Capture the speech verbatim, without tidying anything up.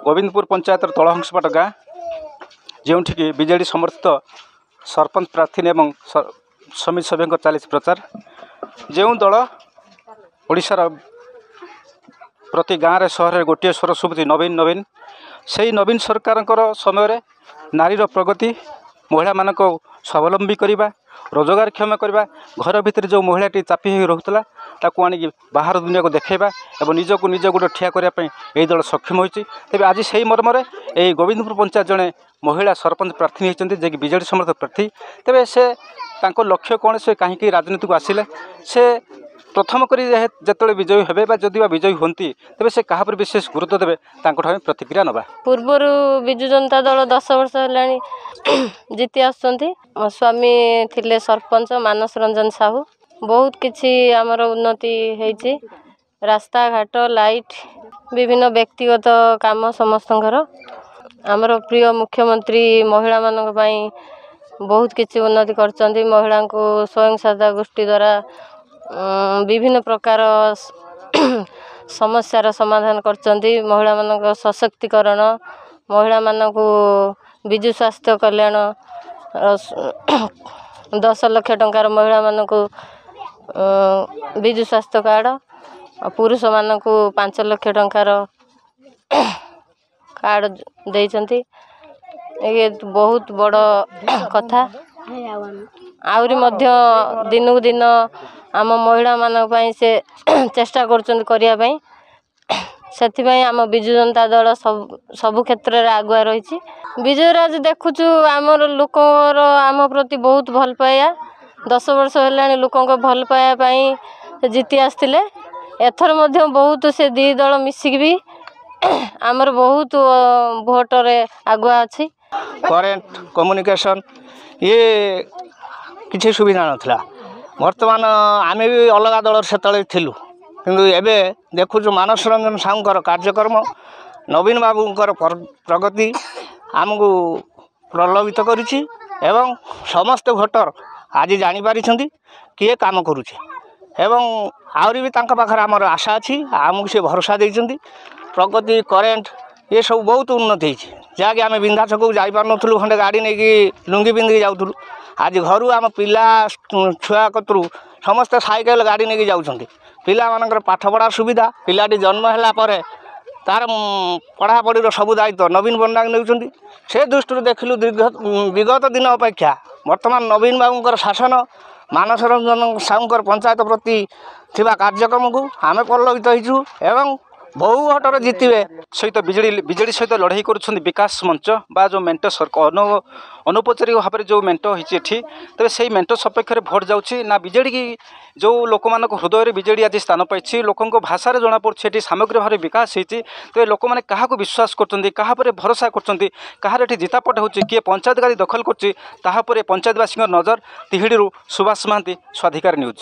ଗୋବିନ୍ଦପୁର ପଞ୍ଚାୟତର ତଳହଂସପାଟ ଗାଁ, ଯେଉଁଠିକି ବିଜେଡ଼ି ସମର୍ଥିତ ସରପଞ୍ଚ ପ୍ରାର୍ଥିନୀ ଏବଂ ସମିତି ସଭ୍ୟଙ୍କ ଚାଲିଛି ପ୍ରଚାର। ଯେଉଁ ଦଳ ଓଡ଼ିଶାର ପ୍ରତି ଗାଁରେ ସହରରେ ଗୋଟିଏ ସ୍ୱର ଶୁଭୁଛି, ନବୀନ ନବୀନ, ସେଇ ନବୀନ ସରକାରଙ୍କର ସମୟରେ ନାରୀର ପ୍ରଗତି, ମହିଳାମାନଙ୍କୁ ସ୍ୱାବଲମ୍ବୀ କରିବା, ରୋଜଗାରକ୍ଷମ କରିବା, ଘର ଭିତରେ ଯେଉଁ ମହିଳାଟି ଚାପି ହୋଇ ରହୁଥିଲା ତାକୁ ଆଣିକି ବାହାର ଦୁନିଆକୁ ଦେଖାଇବା ଏବଂ ନିଜକୁ ନିଜ ଗୋଡ଼ ଠିଆ କରିବା ପାଇଁ ଏହି ଦଳ ସକ୍ଷମ ହୋଇଛି। ତେବେ ଆଜି ସେଇ ମର୍ମରେ ଏହି ଗୋବିନ୍ଦପୁର ପଞ୍ଚାୟତ ଜଣେ ମହିଳା ସରପଞ୍ଚ ପ୍ରାର୍ଥୀ ହୋଇଛନ୍ତି, ଯିଏକି ବିଜେଡ଼ି ସମର୍ଥିତ ପ୍ରାର୍ଥୀ। ତେବେ ସେ ତାଙ୍କ ଲକ୍ଷ୍ୟ କ'ଣ, ସେ କାହିଁକି ରାଜନୀତିକୁ ଆସିଲେ, ସେ ପ୍ରଥମ କରି ଯେତେବେଳେ ବିଜୟୀ ହେବେ ବା ଯଦି ବା ବିଜୟୀ ହୁଅନ୍ତି ତେବେ ସେ କାହା ଉପରେ ବିଶେଷ ଗୁରୁତ୍ୱ ଦେବେ, ତାଙ୍କଠୁ ଆମେ ପ୍ରତିକ୍ରିୟା ନେବା। ପୂର୍ବରୁ ବିଜୁ ଜନତା ଦଳ ଦଶ ବର୍ଷ ହେଲାଣି ଜିତି ଆସୁଛନ୍ତି। ମୋ ସ୍ୱାମୀ ଥିଲେ ସରପଞ୍ଚ ମାନସ ରଞ୍ଜନ ସାହୁ। ବହୁତ କିଛି ଆମର ଉନ୍ନତି ହେଇଛି, ରାସ୍ତାଘାଟ, ଲାଇଟ୍, ବିଭିନ୍ନ ବ୍ୟକ୍ତିଗତ କାମ ସମସ୍ତଙ୍କର। ଆମର ପ୍ରିୟ ମୁଖ୍ୟମନ୍ତ୍ରୀ ମହିଳାମାନଙ୍କ ପାଇଁ ବହୁତ କିଛି ଉନ୍ନତି କରିଛନ୍ତି। ମହିଳାଙ୍କୁ ସ୍ୱୟଂ ସହାୟତା ଗୋଷ୍ଠୀ ଦ୍ୱାରା ବିଭିନ୍ନ ପ୍ରକାର ସମସ୍ୟାର ସମାଧାନ କରିଛନ୍ତି। ମହିଳାମାନଙ୍କ ସଶକ୍ତିକରଣ, ମହିଳାମାନଙ୍କୁ ବିଜୁ ସ୍ୱାସ୍ଥ୍ୟ କଲ୍ୟାଣ ଦଶ ଲକ୍ଷ ଟଙ୍କାର ମହିଳାମାନଙ୍କୁ ବିଜୁ ସ୍ୱାସ୍ଥ୍ୟ କାର୍ଡ଼, ପୁରୁଷମାନଙ୍କୁ ପାଞ୍ଚ ଲକ୍ଷ ଟଙ୍କାର କାର୍ଡ଼ ଦେଇଛନ୍ତି। ଇଏ ବହୁତ ବଡ଼ କଥା। ଆହୁରି ମଧ୍ୟ ଦିନକୁ ଦିନ ଆମ ମହିଳାମାନଙ୍କ ପାଇଁ ସେ ଚେଷ୍ଟା କରୁଛନ୍ତି କରିବା ପାଇଁ। ସେଥିପାଇଁ ଆମ ବିଜୁ ଜନତା ଦଳ ସବୁ ସବୁ କ୍ଷେତ୍ରରେ ଆଗୁଆ ରହିଛି। ବିଜୟରାଜ ଦେଖୁଛୁ ଆମର ଲୋକଙ୍କର ଆମ ପ୍ରତି ବହୁତ ଭଲ ପାଇବା। ଦଶ ବର୍ଷ ହେଲାଣି ଲୋକଙ୍କ ଭଲ ପାଇବା ପାଇଁ ଜିତି ଆସିଥିଲେ। ଏଥର ମଧ୍ୟ ବହୁତ ସେ ଦୁଇ ଦଳ ମିଶିକି ବି ଆମର ବହୁତ ଭୋଟରେ ଆଗୁଆ ଅଛି। କରେଣ୍ଟ, କମ୍ୟୁନିକେସନ୍ ଇଏ କିଛି ସୁବିଧା ନଥିଲା। ବର୍ତ୍ତମାନ ଆମେ ବି ଅଲଗା ଦଳରେ ସେତେବେଳେ ଥିଲୁ, କିନ୍ତୁ ଏବେ ଦେଖୁଛୁ ମାନସ ରଞ୍ଜନ ସାହୁଙ୍କର କାର୍ଯ୍ୟକ୍ରମ, ନବୀନ ବାବୁଙ୍କର ପ୍ରଗତି ଆମକୁ ପ୍ରଲୋଭିତ କରିଛି ଏବଂ ସମସ୍ତେ ଭୋଟର ଆଜି ଜାଣିପାରିଛନ୍ତି କିଏ କାମ କରୁଛି ଏବଂ ଆହୁରି ବି ତାଙ୍କ ପାଖରେ ଆମର ଆଶା ଅଛି। ଆମକୁ ସେ ଭରସା ଦେଇଛନ୍ତି। ପ୍ରଗତି, କରେଣ୍ଟ ଏସବୁ ବହୁତ ଉନ୍ନତି ହେଇଛି, ଯାହାକି ଆମେ ବିନ୍ଧା ଛକକୁ ଯାଇପାରୁନଥିଲୁ, ଖଣ୍ଡେ ଗାଡ଼ି ନେଇକି ଲୁଙ୍ଗି ପିନ୍ଧିକି ଯାଉଥିଲୁ। ଆଜି ଘରୁ ଆମ ପିଲା ଛୁଆ କତରୁ ସମସ୍ତେ ସାଇକେଲ ଗାଡ଼ି ନେଇକି ଯାଉଛନ୍ତି। ପିଲାମାନଙ୍କର ପାଠପଢ଼ା ସୁବିଧା, ପିଲାଟି ଜନ୍ମ ହେଲା ପରେ ତା'ର ପଢ଼ାପଢ଼ିର ସବୁ ଦାୟିତ୍ୱ ନବୀନ ପଟ୍ଟନାୟକ ନେଉଛନ୍ତି। ସେ ଦୃଷ୍ଟିରୁ ଦେଖିଲୁ ଦୀର୍ଘ ବିଗତ ଦିନ ଅପେକ୍ଷା ବର୍ତ୍ତମାନ ନବୀନ ବାବୁଙ୍କର ଶାସନ, ମାନସ ରଞ୍ଜନ ସାହୁଙ୍କର ପଞ୍ଚାୟତ ପ୍ରତି ଥିବା କାର୍ଯ୍ୟକ୍ରମକୁ ଆମେ ପ୍ରଲୋଭିତ ହେଇଛୁ ଏବଂ ବହୁ ଭୋଟରେ ଜିତିବେ। ସହିତ ବିଜେଡ଼ି ବିଜେଡ଼ି ସହିତ ଲଢ଼େଇ କରୁଛନ୍ତି ବିକାଶ ମଞ୍ଚ ବା ଯେଉଁ ମେଣ୍ଟ ସରକାର ଅନୌପଚାରିକ ଭାବରେ ଯେଉଁ ମେଣ୍ଟ ହେଇଛି ଏଠି, ତେବେ ସେଇ ମେଣ୍ଟ ସପକ୍ଷରେ ଭୋଟ ଯାଉଛି ନା ବିଜେଡ଼ି? ଯେଉଁ ଲୋକମାନଙ୍କ ହୃଦୟରେ ବିଜେଡ଼ି ଆଜି ସ୍ଥାନ ପାଇଛି, ଲୋକଙ୍କ ଭାଷାରେ ଜଣାପଡ଼ୁଛି ଏଠି ସାମଗ୍ରିକ ଭାବରେ ବିକାଶ ହେଇଛି। ତେବେ ଲୋକମାନେ କାହାକୁ ବିଶ୍ୱାସ କରୁଛନ୍ତି, କାହା ଉପରେ ଭରସା କରୁଛନ୍ତି, କାହାର ଏଠି ଜିତାପଟ ହେଉଛି, କିଏ ପଞ୍ଚାୟତ ଗାଦି ଦଖଲ କରୁଛି, ତାହା ଉପରେ ପଞ୍ଚାୟତବାସୀଙ୍କ ନଜର। ତିହିଡ଼ିରୁ ସୁଭାଷ ମହାନ୍ତି, ସ୍ୱାଧିକାର ନ୍ୟୁଜ୍।